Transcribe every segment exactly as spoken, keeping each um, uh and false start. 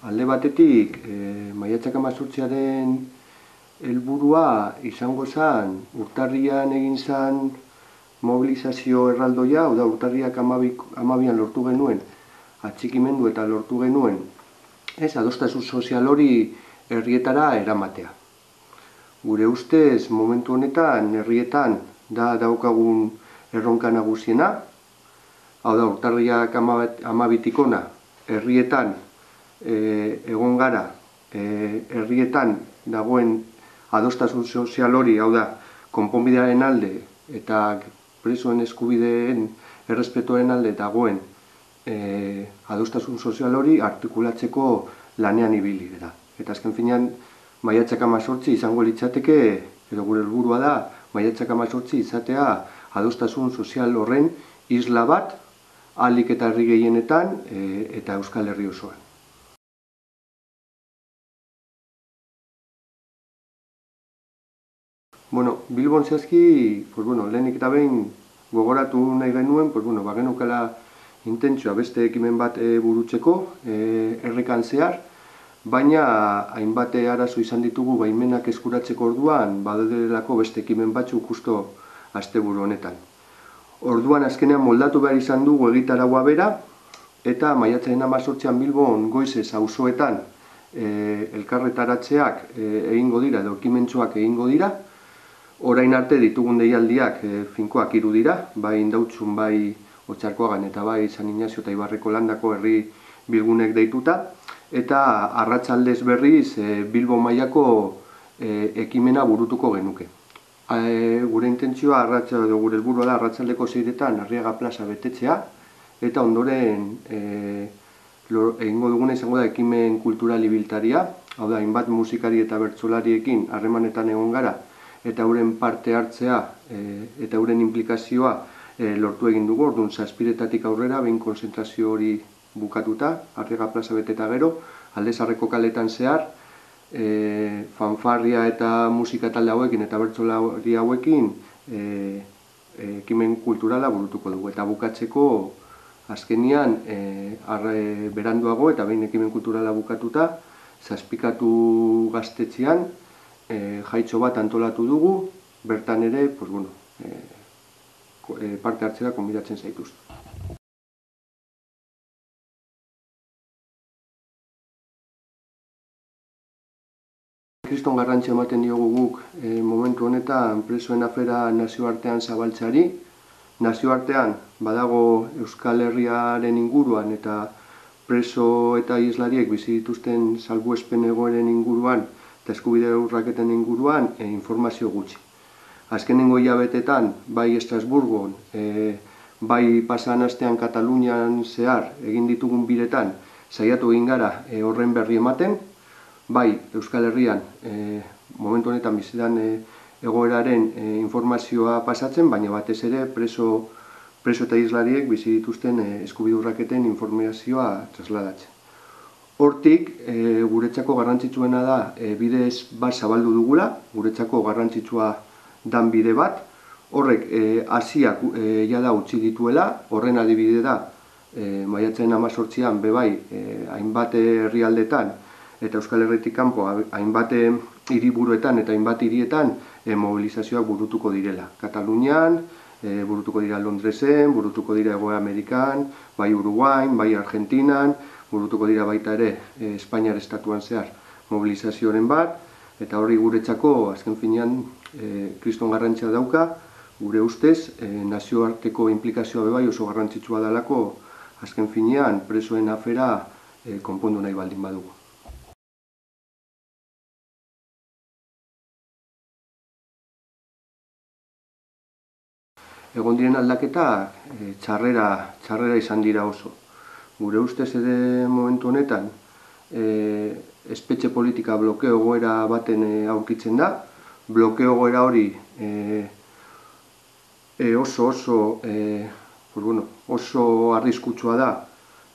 Alde batetik, e, maiatzak hemezortziaren helburua izango zen, urtarrian egin zen mobilizazio erraldoia, hau da, urtarriak hamabian lortu genuen, atxikimendu eta lortu genuen, ez, adostasun sozial hori herrietara eramatea. Gure ustez, momentu honetan, herrietan, da daukagun erronka nagusiena, hau da, urtarriak hamabitik hona, herrietan, E, egon gara, e, herrietan dagoen adostasun sozial hori, hau da, konponbidearen alde eta presoen eskubideen errespetuaren alde dagoen e, adostasun sozial hori artikulatzeko lanean ibili gara. Eta azken finean, maiatzak hemezortzi izango litzateke, edo gure helburua da, maiatzak hemezortzi izatea adostasun sozial horren isla bat, ahalik eta herri gehienetan e, eta Euskal Herri osoan. Bueno, Bilbon zehazki, pues bueno, lehenik eta behin gogoratu nahi genuen, pues bueno, bagenukala intentzioa beste ekimen bat e, burutzeko, e, errekan zehar, baina hainbat arazo izan ditugu baimenak eskuratzeko orduan, badelako beste ekimen batzuk justo asteburu honetan. Orduan azkenean moldatu behar izan dugu egitaragua bera, eta maiatzaren hemezortzian Bilbon goizez auzoetan e, elkarretaratzeak e, egingo dira, edo ekimentxoak egingo dira. Orain arte ditugun deialdiak e, finkoak hiru dira, bai Indautxun, bai Otxarkoagan eta bai San Inazio eta Ibarreko landako herri bilgunek deituta, eta arratsaldez berriz e, Bilbo mailako e, ekimena burutuko genuke. E, gure intentzioa, edo gure helburua da arratsaldeko seiretan Arriaga plaza betetzea, eta ondoren e, egingo duguna izango da ekimen kultural ibiltaria, hau da, hainbat musikari eta bertsolariekin harremanetan egon gara, eta euren parte hartzea e, eta euren implikazioa e, lortu egin dugu, orduan zazpiretatik aurrera, behin konzentrazio hori bukatuta, Arriaga plaza beteta gero, Alde Zaharreko kaletan zehar, e, fanfarria eta musika talde hauekin eta bertsolari hauekin e, e, ekimen kulturala burutuko dugu. Eta bukatzeko, azkenian, e, arre, beranduago eta behin ekimen kulturala bukatuta, zazpikatu gaztetxean, E, jaitxo bat antolatu dugu, bertan ere, pues bueno, e, e, parte hartzera konbidatzen zaituz. Kriston garrantzia ematen diogu guk e, momentu honetan presoen afera nazioartean zabaltzeari. Nazioartean badago Euskal Herriaren inguruan eta preso eta islariek bizi dituzten salbuespen egoeren inguruan eta eskubide urraketen inguruan e, informazio gutxi. Azkenengo hilabetetan, bai Estrasburgon, e, bai pasan astean Katalunian zehar egin ditugun biretan, saiatu egin gara e, horren berri ematen, bai Euskal Herrian e, momentu honetan bizidan e, egoeraren e, informazioa pasatzen, baina batez ere preso, preso eta islariek bizi dituzten e, eskubide urraketen informazioa trasladatzen. Hortik, e, guretzako garrantzitsuena da e, bidez bat zabaldu dugula, guretzako garrantzitsua dan bide bat. Horrek, e, Asiak e, jada utzi dituela, horren adibide da, e, maiatzaren hemezortzian bebai e, hainbat herrialdetan eta Euskal Herritik kanpo hainbat hiriburuetan eta hainbat hirietan e, mobilizazioak burutuko direla. Katalunian, e, burutuko dira Londresen, burutuko dira Hego Amerikan, bai Uruguain, bai Argentinan, burutuko dira baita ere e, Espainiar estatuan zehar mobilizazioaren bat, eta hori guretzako azken finean e, kriston garrantzia dauka, gure ustez e, nazioarteko implikazioa bebai oso garrantzitsua dalako azken finean presoen afera e, konpondu nahi baldin badugu. Egon diren aldaketak e, txarrera, txarrera izan dira oso. Gure ustez ere momentu honetan e, espetxe politika blokeo egoera baten e, aurkitzen da. Blokeo egoera hori e, e, oso oso e, pues bueno, oso arriskutsua da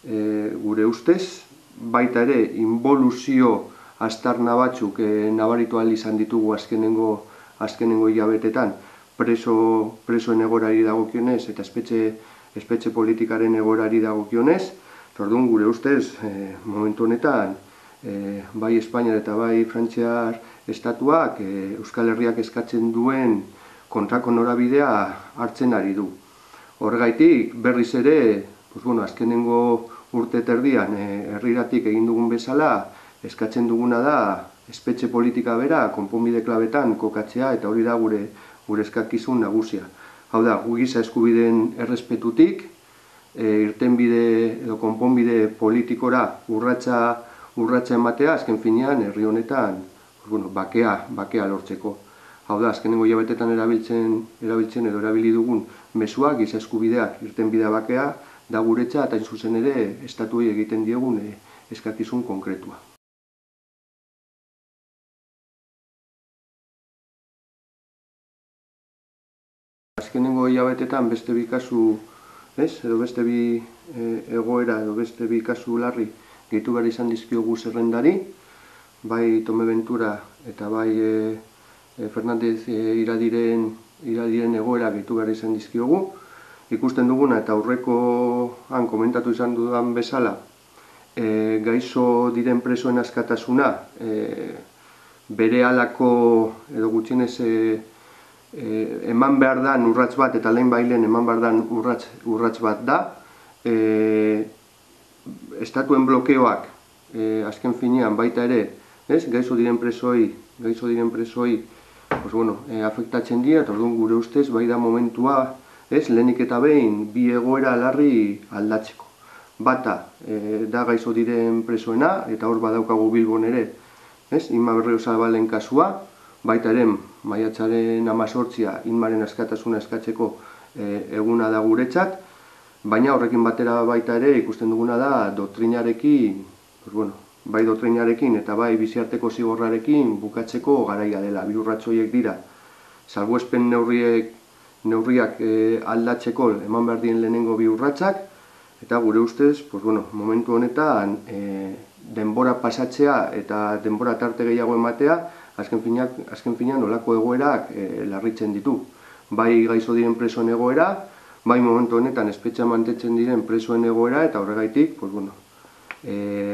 e, gure ustez. Baita ere inboluzio aztarna batzuk e, nabaritu ahal izan ditugu azkenengo, azkenengo hilabetetan preso, presoen egorari dagokionez eta espetxe, espetxe politikaren egorari dagokionez. Orduan, gure ustez, e, momentu honetan, bai Espainiar eta bai Frantziar estatuak Euskal Herriak eskatzen duen kontrako norabidea hartzen ari du. Horregaitik berriz ere, azkenengo urte terdian herriratik egin dugun bezala, eskatzen duguna da espetxe politika bera konponbide klabetan kokatzea, eta hori da gure gure eskakizun nagusia. Hau da, gu giza eskubideen errespetutik, irtenbide edo konponbide politikora urratsa urratsa ematea, azken finean herri honetan bakea bakea lortzeko. Hau da, azkenengo hilabetetan erabiltzen erabiltzen edo erabili dugun mezua giza eskubideak irtenbidea bakea da guretza, eta hain zuzen ere estatuei egiten diegun eskakizun konkretua. Azkenengo hilabetetan beste bi kasu, edo beste bi egoera edo beste bi kasu larri gehitu behar izan dizkiogu zerrendari, bai Tome Ventura eta bai Fernandez iradiren egoera gehitu behar izan dizkiogu. Ikusten duguna eta aurrekoan komentatu izan dudan bezala, gaixo diren presoen askatasuna bere halako edo gutxienez eman behar dan urrats bat, eta lehen bailen eman behar dan urrats bat da. Estatuen blokeoak azken finean baita ere gaixo diren presoi gaixo diren presoi afektatzen dira, eta orduan gure ustez bai da momentua lehenik eta behin bi egoera larri aldatzeko. Bata da gaixo diren presoena, eta hor badaukagu Bilbon ere Inma Berriozabalen kasua, baita ere maiatzaren hemezortzia Inmaren askatasuna eskatzeko eguna da guretzat, baina horrekin batera baita ere ikusten duguna da doktrinarekin, bai doktrinarekin eta bai biziarteko zigorrarekin bukatzeko garaia dela. Bi urrats horiek dira salbuespen neurriak aldatzeko eman behar dien lehenengo bi urratsak, eta gure ustez momentu honetan denbora pasatzea eta denbora tarte gehiago ematea azken finean olako egoerak larritzen ditu. Bai gaixo diren presoen egoera, bai momentu honetan espetxean mantentzen diren presoen egoera, eta horregaitik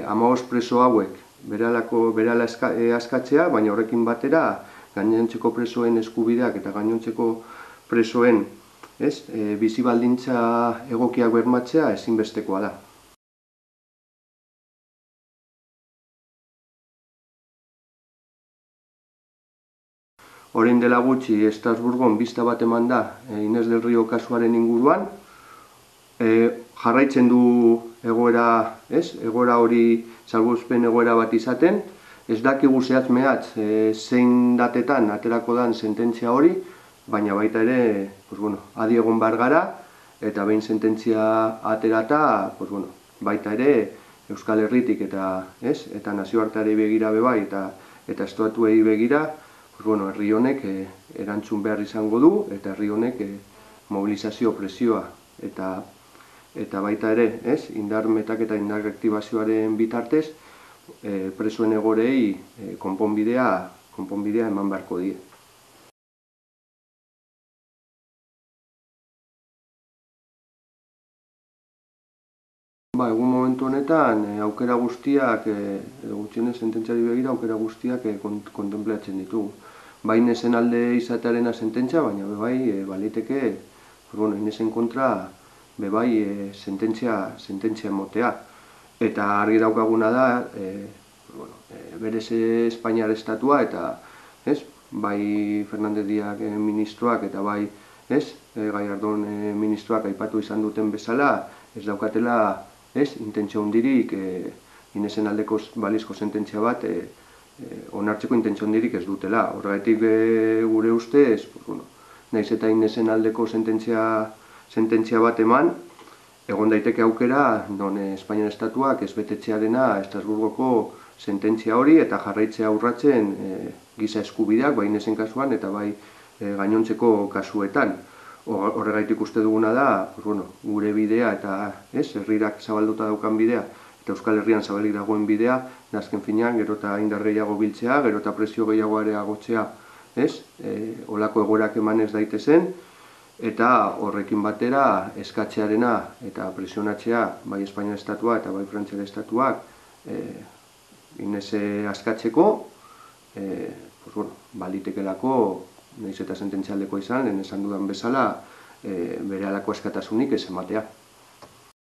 hamabost preso hauek berehala askatzea, baina horrekin batera gainontzeko presoen eskubideak eta gainontzeko presoen bizi baldintza egokiak bermatzea ezinbestekoa da. Orain dela gutxi Estrasburgon bista bat eman da Inés del Rio kasuaren inguruan, jarraitzen du egoera, egoera hori salbuespen egoera bat izaten, ez dakigu zehatz mehatz zein datetan aterako dan sententzia hori, baina baita ere adi egon behar gara, eta behin sententzia aterata, baita ere Euskal Herritik eta nazioarteari begira bebai eta estatuei begira, herri honek erantzun behar izango du, eta herri honek mobilizazio presioa eta baita ere indar metak eta indar aktibazioaren bitartez presoen egorei konponbidea eman beharko die. Egun momentu honetan aukera guztiak, edo gutxienez sententziari begira aukera guztiak kontemplatzen ditugu. Bai Inesen alde izatearena sententzia, baina bebai baliteke Inesen kontra bebai sententzia motea. Eta argi daukaguna da, berez Espainiar estatua eta bai Fernández Díaz ministroak eta bai Gallardón ministroak aipatu izan duten bezala, ez daukatela intentzio hundirik Inesen aldeko balizko sententzia bat onartzeko intentzio hundirik ez dutela. Horregatik gure ustez, nahiz eta Inesen aldeko sententzia bat eman, egon daiteke aukera non Espainiar estatuak ez betetzearena Estrasburgoko sententzia hori eta jarraitzea urratzen giza eskubideak, bai Inesen kasuan eta bai gainontzeko kasuetan. Horregaitik uste duguna da, gure bidea eta herrirak zabalduta daukan bidea eta Euskal Herrian zabalik dagoen bidea, azken finean gero eta indar gehiago biltzea, gero eta presio gehiago areagotzea, olako egoerak eman ez daitezen, eta horrekin batera eskatzearena eta presionatzea bai Espainiar estatua eta bai Frantziar estatuak Inese askatzeko, e, pues, bueno, balitekelako, nahiz eta sententzialdekoa izan, lehen esan dudan bezala, e, bere halako askatasunik ez ematea.